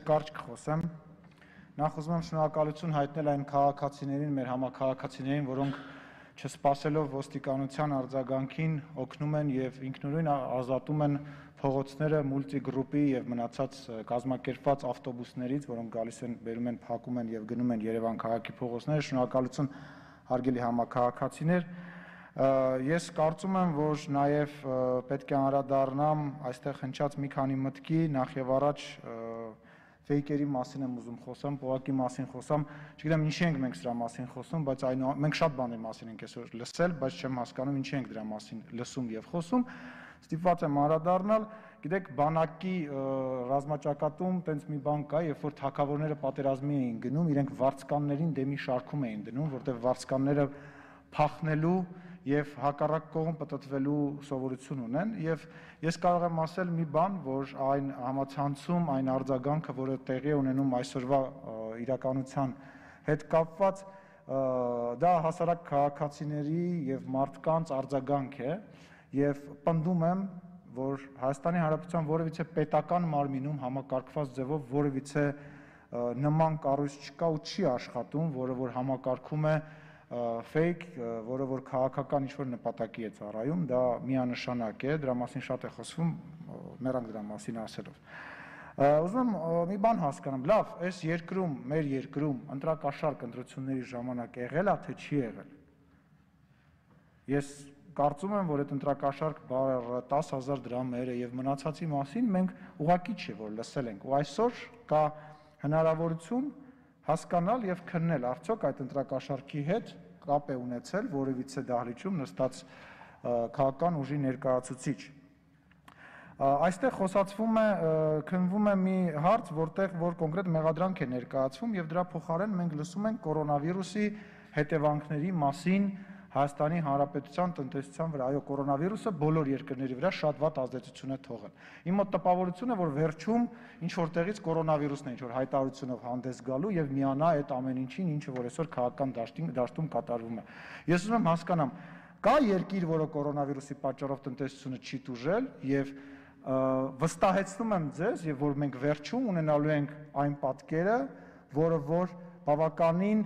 Կարճ կխոսեմ, նախ ուզում եմ շնորհակալություն հայտնել այն քաղաքացիներին, մեր համաքաղաքացիներին, որոնք չսպասելով ոստիկանության արձագանքին օգնում են եւ ինքնուրույն ազատում են փողոցները մուլտիգրուպի եւ մնացած կազմակերպված ավտոբուսներից, որոնք գալիս են, բերում են, փակում են եւ գնում են Երևան քաղաքի փողոցները, շնորհակալություն հարգելի համաքաղաքացիներ։ Ես կարծում եմ, որ նաեւ պետք է անդրադառնամ այստեղ հնչած մի քանի մտքի, նախ եւ առաջ ֆեյքերի մասին եմ ուզում խոսամ, փողակի մասին խոսամ, չգիտեմ ինչի ենք մենք սրա մասին խոսում, բայց մենք շատ բաների մասին ենք այսօր լսել, բայց չեմ հասկանում ինչի ենք դրա մասին լսում եւ խոսում, ստիպված եմ անդրադառնալ, գիտեք, բանակի ռազմաճակատում տենց մի բան կա, երբ որ թագավորները պատերազմի էին գնում, իրենք վարձկաններին դեմի շարքում էին դնում, որտեղ վարձկանները փախնելու եւ հակառակ կողմ պտտվելու սովորություն ունեն եւ ես կարող եմ ասել մի բան, որ այն համացանցում, այն արձագանքը, որը տեղի է ունենում այսօրվա իրականության հետ կապված, դա հասարակ քաղաքացիների եւ մարդկանց արձագանք է եւ պնդում եմ, որ Հայաստանի Հանրապետության որևիցե պետական մարմինում համակարգված ձևով որևիցե նման կառույց չկա ու չի աշխատում, որը որ համակարգում է ֆեյք, որը որ քաղաքական ինչ-որ նպատակի է ծառայում, դա միանշանակ է, դրա մասին շատ է խոսվում, մեռանք դրա մասին ասելով։ Ուզում եմ մի բան հասկանամ, լավ, այս երկրում, մեր երկրում ընտրակաշառք ընտրությունների ժամանակ եղել է, թե չի եղել։ Ես կարծում եմ, որ այդ ընտրակաշառք բառը 10,000 դրամեր է եւ մնացածի մասին մենք ուղղակի չի որ լսել ենք, ու այսօր կա հնարավորություն հասկանալ եւ քննել արդյոք այդ ընտրակաշառքի հետ կապ է ունեցել որևիցե դահլիճում նստած քաղաքական ուժի ներկայացուցիչ։ Այստեղ խոսացվում է, քննվում է մի հարց, որտեղ որ կոնկրետ մեղադրանք է ներկայացվում եւ դրա փոխարեն մենք լսում ենք կորոնավիրուսի հետևանքների մասին Հայաստանի Հանրապետության տնտեսության վրա, այո, կորոնավիրուսը բոլոր երկրների վրա շատ վատ ազդեցություն է թողել։ Իմ մոտ տպավորություն է, որ վերջում ինչ որտեղից կորոնավիրուսն է ինչ որ հայտարարությունով հանդես գալու եւ միանա այդ ամեն ինչին, ինչը որ այսօր քաղաքական դաշտում կատարվում է։ Ես ուզում եմ հասկանամ, կա երկիր, որը կորոնավիրուսի պատճառով տնտեսությունը չի տուժել եւ վստահեցնում եմ ձեզ, եւ որ մենք վերջում ունենալու ենք այն պատկերը, որը որ բավականին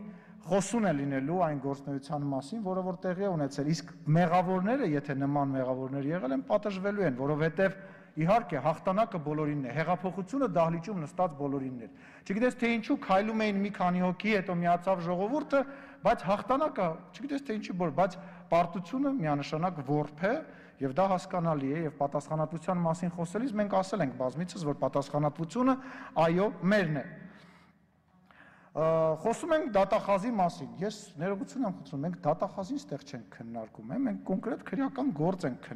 խոսուն է լինելու այն գործնեության մասին, որը որ տեղի է ունեցել, իսկ մեղավորները, եթե նման մեղավորներ եղել են, պատժվելու են, որովհետև իհարկե հաղթանակը բոլորինն է, հեղափոխությունը դահլիճում նստած բոլորինն էր։ Չգիտես թե ինչու քայլում էին մի քանի հոգի, հետո միացավ ժողովուրդը, բայց հաղթանակը, չգիտես թե ինչի բոլոր, բայց պարտությունը միանշանակ որբ է, եւ դա հասկանալի է, եւ պատասխանատվության մասին խոսելիս մենք ասել ենք բազմիցս, որ պատասխանատվությունը այո, մերն է։ Խոսում ենք դատախազի մասին, ես ներողություն եմ խնդրում, մենք դատախազին ստեղ չենք քննարկում, մենք կոնկրետ քրեական գործ ենք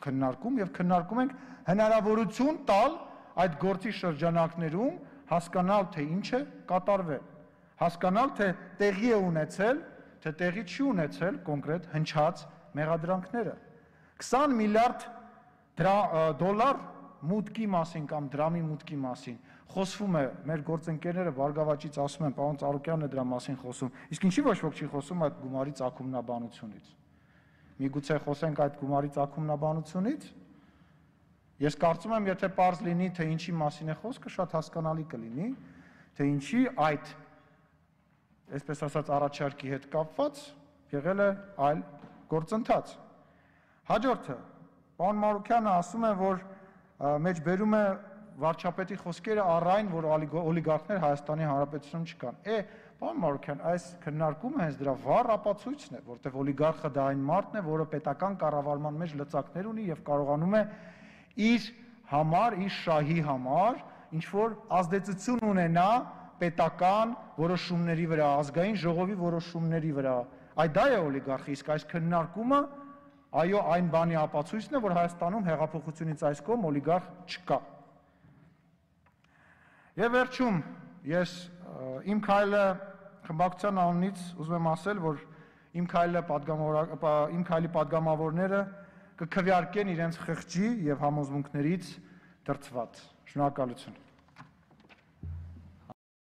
քննարկում եւ քննարկում ենք հնարավորություն տալ այդ գործի շրջանակներում հասկանալ թե ինչ է կատարվել, հասկանալ թե տեղի է ունեցել, թե տեղի չի ունեցել կոնկրետ հնչած մեղադրանքները։ 20 միլիարդ դոլար մուտքի մասին կամ դրամի մուտքի մասին խոսվում է, մեր գործընկերները Բարգավաճից ասում են, պարոն Ծառուկյանն է դրա մասին խոսում, իսկ ինչի ոչ ոք չի խոսում այդ գումարի ծագումնաբանությունից։ Միգուցե խոսենք այդ գումարի ծագումնաբանությունից։ Ես կարծում եմ, եթե պարզ լինի, թե ինչի մասին է խոսքը, շատ հասկանալի կլինի, թե ինչի այդ, այսպես ասած, առաջարկի հետ կապված եղել է այլ գործընթաց։ Հաջորդը, պարոն Մանուկյանը ասում է, որ մեջ բերում է վարչապետի խոսքերը առ այն, որ օլիգարխներ Հայաստանի Հանրապետությունում չկան։ Պարոն Մանուկյան, այս քննարկումը հենց դրա վառ ապացույցն է, որտեղ օլիգարխը դա այն մարդն է, որը պետական կառավարման մեջ լծակներ ունի եւ կարողանում է իր համար, իր շահի համար ինչ որ ազդեցություն ունենա պետական որոշումների վրա, ազգային ժողովի որոշումների վրա։ Այդ դա է օլիգարխը, իսկ այս քննարկումը այո, այն բանի ապացույցն է, որ Հայաստանում հեղափոխությունից այս կողմ օլիգարխ չկա։ Եվ վերջում ես իմ քայլը խմբակցության անունից ուզում եմ ասել, որ իմ քայլի падգամավորները կքվեարկեն իրենց խղճի եւ համոզմունքներից դրդված։ Շնորհակալություն։